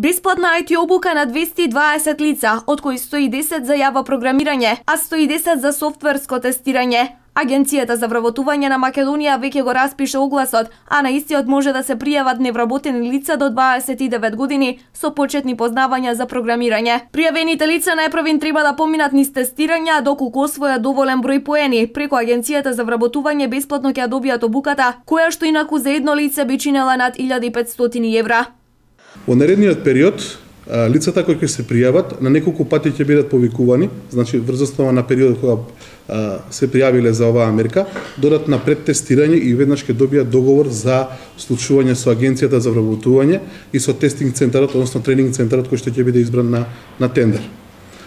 Бесплатна IT обука на 220 лица, од кои 110 за јава програмирање, а 110 за софтверско тестирање. Агенцијата за вработување на Македонија веќе го распиша огласот, а на истиот може да се пријават невработени лица до 29 години со почетни познавања за програмирање. Пријавените лица најпрвин треба да поминат низ тестирање, доколку освојат доволен број поени, преку Агенцијата за вработување бесплатно ќе ја добијат обуката, која што инаку за едно лице би чинела над 1500 евра. Во наредниот период, лицата кои ќе се пријават на неколку пати ќе бидат повикувани, значи врз основа на периодот кога се пријавиле за оваа мерка, додат на предтестирање и веднаш ќе добијат договор за случување со Агенцијата за вработување и со тестинг центарот, односно тренинг центарот кој што ќе биде избран на тендер.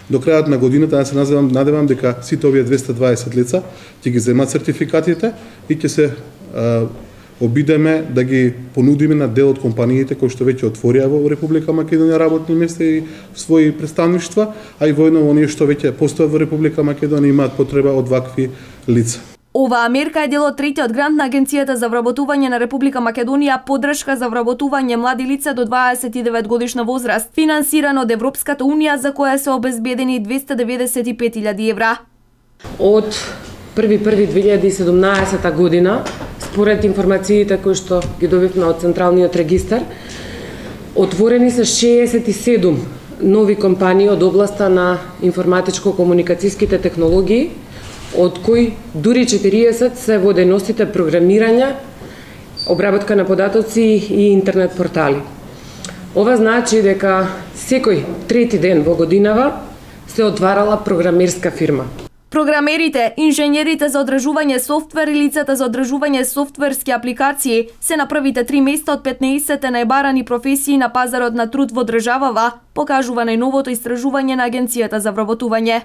До крајот на годината ја се надевам дека сите овие 220 лица ќе ги земат сертификатите и ќе се обидеме да ги понудиме на дел од компаниите кои што веќе отворија во Република Македонија работни места и своји представништва, а и воедно оние што веќе постојат во Република Македонија имаат потреба од вакви лица. Оваа мерка е дел од третиот грант на Агенцијата за вработување на Република Македонија поддршка за вработување млади лица до 29 годишна возраст, финансиран од Европската унија, за која се обезбедени 295.000 евра. Од 1.1.2017 година, според информациите кои што ги добивме од Централниот регистар, отворени се 67 нови компании од областа на информатичко-комуникацијските технологии, од кои дури 40 се во дејностите програмирање, обработка на податоци и интернет портали. Ова значи дека секој трети ден во годинава се отварала програмерска фирма. Програмерите, инженерите за одржување софтвер и лицата за одржување софтверски апликации се на првите 3 места од 15 најбарани професии на пазарот на труд во државава, покажува најновото истражување на Агенцијата за вработување.